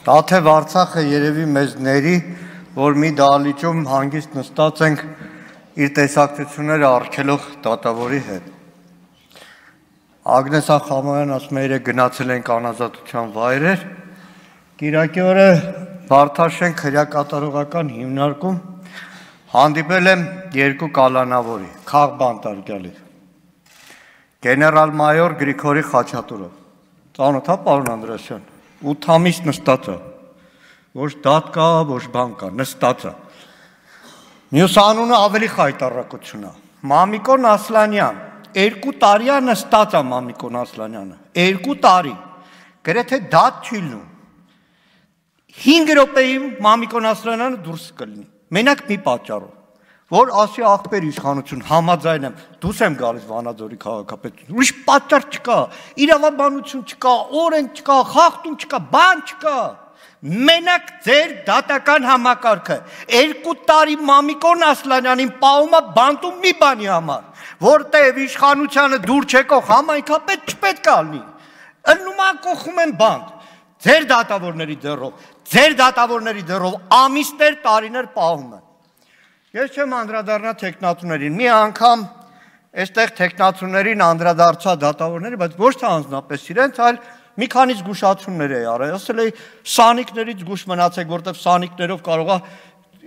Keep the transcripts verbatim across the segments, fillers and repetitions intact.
Տաթև Արցախը երևի մեզ ների, որ մի դահլիճում հանգիստ նստած ենք իր տեսակցությունները արգելող դատավորի հետ։ Ագնես Ախամոյան ասում է, երեկ գնացել ենք անազատության վայրեր, կիրակի օրը Վարդաշենք հրակատարողական հիմնարկում հանդիպել եմ երկու կալանավորի, քաղբանտարկյալի, գեներալ մայոր Գրիգորի Խաչատուրով, ծանոթ է պարոն Անդրեասյան, ութ ամիս նստած է, ոչ դատ կա, ոչ բան կա, նստած է։ Մյուս անունը ավելի խայտառակություն է, Մամիկոն Ասլանյան, երկու տարի է նստած է Մամիկոն Ասլանյանը, երկու տարի, գրեթե դատ չի լինում, հինգ րոպեի Մամիկոն Ասլանյանը դուրս կլինի, մենակ մի պատճառով, որ ասի աղբեր իշխանություն, համաձայն եմ, դուս եմ գալիս Վանաձորի քաղաքապետություն, ուրիշ պատճառ չկա, իրավաբանություն չկա, օրենք չկա, խախտում չկա, բան չկա, մենակ ձեր դատական համակարգը, երկու տարի Մամիկոն Ասլանյանին պահում է բանտում մի բանի համար, որտեղ իշխանությանը դուր չեկող համայնքապետ չպետք է լինի, ըլնում են կողում են բանտ, ձեր դատավորների դեռով, ձեր դատավորների դեռով ամիսներ, տարիներ պահում են։ Ես չեմ անդրադառնա թեկնածուներին, մի անգամ այստեղ թեկնածուներին անդրադարձա դատավորների, բայց ոչ թե անձնապես իրենց, այլ մի քանի զգուշացումներ էի արել, ասել էի սանիկներից զգուշ մնացեք, որտեղ սանիկներով կարող է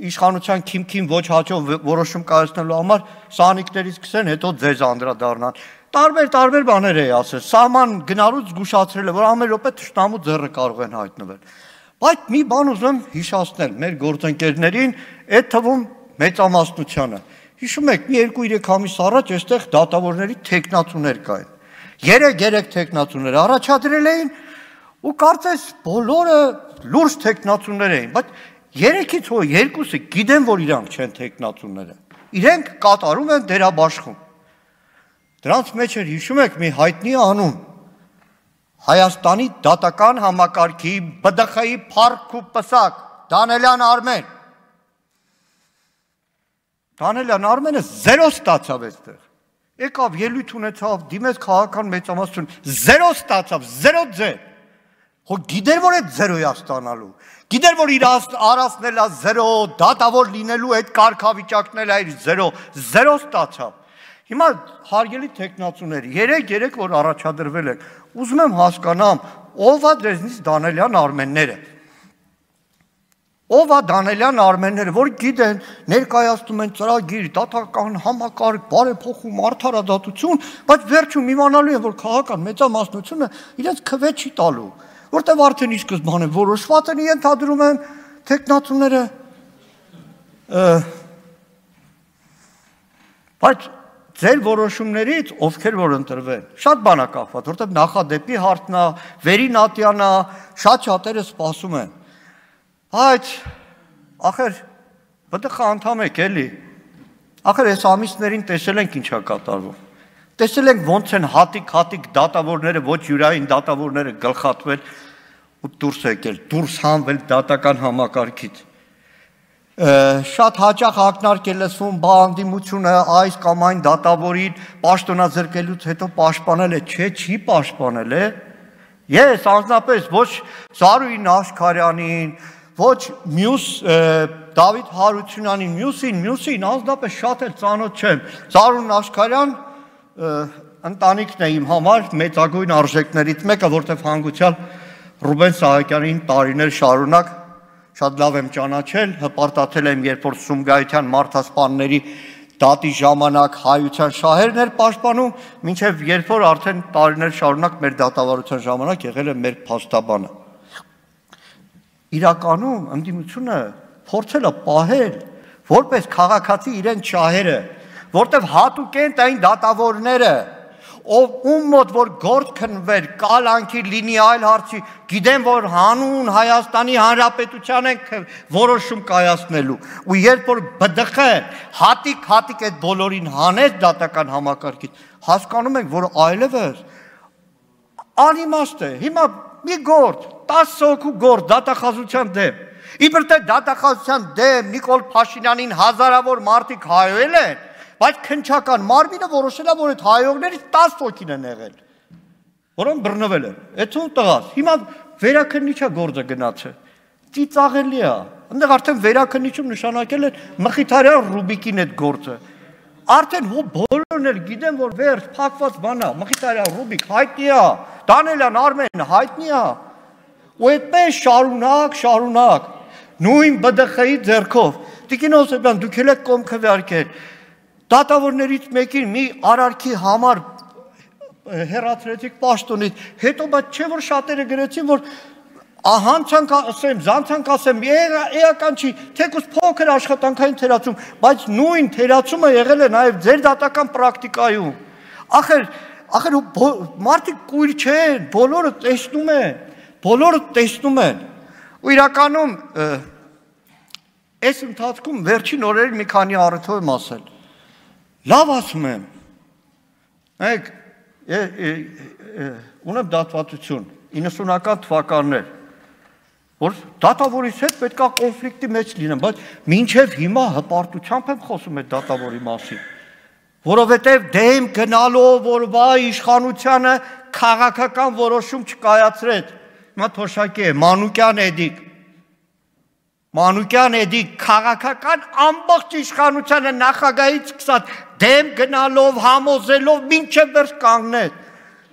իշխանության քիմքին ոչ հաճով որոշում կայացնելու համար սանիկներից սկսեն, հետո ձեզ անդրադառնան։ Տարբեր տարբեր բաներ էի ասել, սահման գնալուց զգուշացրել է, որ ամեն րոպե թշնամու ձեռը կարող են հայտնվել։ Բայց մի բան ուզում հիշեցնել մեր գործընկերներին, այդ թվում մեծամասնությանը։ Հիշում եք, մի երկու-երեք ամիս առաջ այստեղ դատավորների թեկնածուներ կային։ Երեք-երեք թեկնածուներ առաջադրել էին ու կարծես բոլորը լուրջ թեկնածուներ էին, բայց երեքից հո երկուսը գիտեն, որ իրանք չեն թեկնածուները։ Իրենք կատարում են դերաբաշխում։ Դրանց մեջ էր, հիշում եք, մի հայտնի անուն, Հայաստանի դատական համակարգի B D X-ի փառք ու պսակ, Դանելյան Արմեն։ Դանելյան Արմենը զերո ստացավ այստեղ։ Եկավ ելույթ ունեցավ, դիմեց քաղաքական մեծամասնություն, զերո ստացավ, զերո ձեր։ Հո գիտեր, որ այդ զերոյ է ստանալու։ Գիտեր, որ իր արածնել է զերո, դատավոր լինելու այդ կարգավիճակն է իր զերո, զերո ստացավ։ Հիմա հարգելի թեկնածուներ, երեք-երեք որ առաջադրվել եք, ուզում եմ հասկանամ, ով է դրանից Դանելյան Արմենները։ Ով է Դանելյան Արմենները, որ գիտեն, ներկայացնում են ծրագիր, դատական համակարգ, բարեփոխում, արդարադատություն, բայց վերջում իմանալու են, որ քաղաքական մեծամասնությունը իրենց քվե չի տալու, որտեղ արդեն ի սկզբանե որոշված են, ենթադրում եմ թեկնածուները, բայց ձեր որոշումներից ովքեր որ ընտրվեն, շատ բան է կախված, որտեղ նախադեպի հարցն է, վերին ատյանն է, շատ շատերը սպասում են։ Բայց ախր B D X անդամ եք էլի, ախր այս ամիսներին տեսել ենք ինչ է կատարվում, տեսել ենք ոնց են հատիկ-հատիկ դատավորները, ոչ յուրային դատավորները գլխատվել ու դուրս եկել, դուրս հանվել դատական համակարգից։ Շատ հաճախ ակնարկ է լսվում բանդիմությունը այս կամ այն դատավորին պաշտոնազրկելուց հետո պաշտպանել է, չէ, չի պաշտպանել է։ Ես անձնապես ոչ Զարուհին Աշխարյանին, ոչ մյուս Դավիթ Հարությունյանին, մյուսին, մյուսին անձնապես շատ էլ ծանոթ չեմ։ Զարուհին Աշխարյան ընտանիքն է իմ համար մեծագույն արժեքներից մեկը, որտեղ հանգուցյալ Ռուբեն Սահակյանին տարիներ շարունակ շատ լավ եմ ճանաչել, հպարտացել եմ, երբ որ Սումգայիթյան մարդասպանների դատի ժամանակ հայության շահերն էր պաշտպանում, մինչև երբ որ արդեն տարիներ շարունակ մեր դատավարության ժամանակ եղել է մեր փաստաբանը։ Իրականում ընդդիմությունը փորձել է պահել որպես քաղաքացի իրեն շահերը, որտեղ հատուկ են այն դատավորները, ով ում մոտ որ գործ քննվեր, կալանքի լինի այլ հարցի, գիտեն, որ հանուն Հայաստանի Հանրապետության են որոշում կայացնելու, ու երբ որ B D X-ը հատիկ-հատիկ այդ բոլորին հանեց դատական համակարգից, հասկանում ենք, որ այլևս անիմաստ է, հիմա մի գործ, տասը հոգու գործ դատախազության դեմ, իբր թե դատախազության դեմ Նիկոլ Փաշինյանին հազարավոր մարդիկ հայոել են, բայց քննչական մարմինը որոշել է, որ այդ հայողներից տասը հոգին են եղել, որոնք բռնվել են, այդ ո՞ւմ տղաս, հիմա վերաքննիչա գործը գնացել, ծիծաղելի է։ Այնտեղ արդեն վերաքննիչում նշանակել են Մխիթարյան Ռուբիկին այդ գործը։ Արդեն հո բոլորն էլ գիտեն, որ վերջ փակված բան է, Մխիթարյան Ռուբիկ հայտնի է, Դանելյան Արմեն հայտնի է։ Ու այդպես շարունակ, շարունակ, նույն B D X-ի ձեռքով։ Տիկին Հովսեփյան, դուք էլ եք կողմ քվեարկել։ Դատավորներից մեկին մի արարքի համար հեռացրեցիք պաշտոնից, հետո բայց չէ որ շատերը գրեցին, որ հանցանք ասեմ, զանցանք ասեմ, էական չի, թեկուզ փոքր աշխատանքային թերացում, բայց նույն թերացումը եղել է նաև ձեր դատական պրակտիկայում։ Ախր, ախր մարդիկ կույր չեն, բոլորը տեսնում են, բոլորը տեսնում են։ Ու իրականում այս ընթացքում վերջին օրերին մի քանի առիթով եմ ասել։ Լավ ասում եմ։ Նայեք, ունեմ դատվածություն իննսունական թվականներ, որ դատավորից հետ պետք է կոնֆլիկտի մեջ լինեմ, բայց մինչև հիմա հպարտությամբ եմ խոսում այդ դատավորի մասին, որովհետև դեմ գնալով, որ վայ իշխանությանը քաղաքական որոշում չկայացրեց, հիմա թոշակի է, Մանուկյան Էդիկ, Մանուկյան Էդիկ քաղաքական ամբողջ իշխանությանը նախագահից սկսած դեմ գնալով, համոզելով, մինչև վերջ կանգնեց։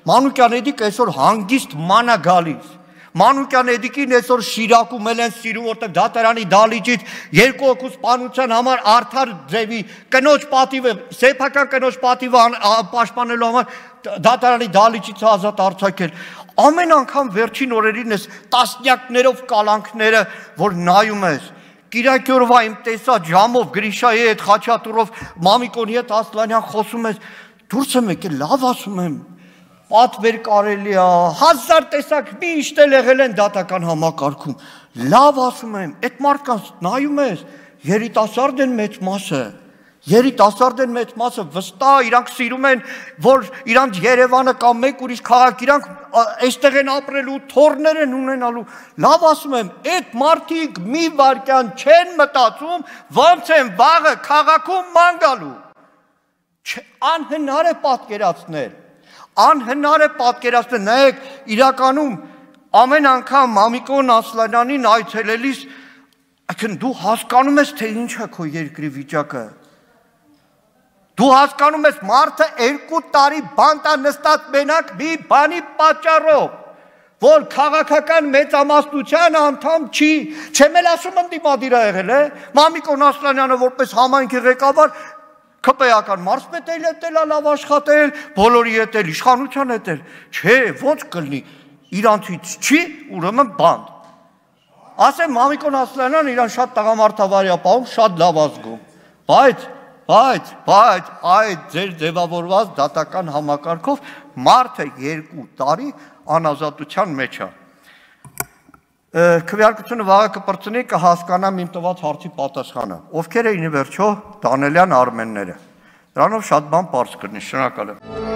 Մանուկյան Էդիկ այսօր հանգիստ մանա գալիս։ Մանուկյան Էդիկին այսօր Շիրակում էլ են սիրում, որտեղ դատարանի դալիճից երկու հոգու սպանության համար արդար ձևի կնոջ պատիվը, սեփական կնոջ պատիվը պաշտպանելու համար դատարանի դալիճից ազատ արձակել։ Ամեն անգամ վերջին օրերին ես տասնյակներով կալանքները, որ նայում ես, Կիրակի օրվա իմ տեսա ժամով Գրիշայի հետ, Խաչատուրով, Մամիկոնի հետ Ասլանյան խոսում ես, դուրս եմ եկել, լավ ասում եմ, պատվեր կարելի է, հազար տեսակ միշտ էլ եղել են դատական համակարգում, լավ ասում եմ, այդ մարդկանց նայում ես, երիտասարդ են մեծ մասը, երիտասարդ են մեծ մասը, վստահ իրանք սիրում են, որ իրանք Երևանը կամ մեկ ուրիշ քաղաք, իրանք այստեղ են ապրելու, թոռներ են ունենալու, լավ ասում եմ, այդ մարդիկ մի վայրկյան չեն մտածում, ոնց են վաղը քաղաքում ման գալու, անհնար է պատկերացնել, անհնար է պատկերացնել, նայեք, իրականում ամեն անգամ Մամիկոն Ասլանյանին այցելելիս, դու հասկանում ես, թե ինչ է քո երկրի վիճակը, դու հասկանում ես մարդը երկու տարի բանտա նստած մենակ մի բանի պատճառով, որ քաղաքական մեծամասնության անդամ չի, չեմ էլ ասում ընդդիմադիր ա եղել, Մամիկոն Ասլանյանը որպես համայնքի ղեկավար քպեական մարզպետ էլ էտել ա լավ աշխատել, բոլորի հետ էլ իշխանության հետ էլ, չէ, ոնց կլինի, իրանցից չի, ուրեմն բանտ։ Ասեմ Մամիկոն Ասլանյանն իրան շատ տղամարդավարի ա պահում, շատ լավ ազգում, բայց Բայց, բայց, այդ ձեր ձևավորված դատական համակարգով մարդը երկու տարի անազատության մեջ է։ Քվեարկությունը վաղը կպրծնի կհասկանամ իմ տված հարցի պատասխանը։ Ովքեր էին ի վերջո Դանելյան Արմենները։ Դրանով շատ բան պարզ կլինի, շնորհակալ եմ։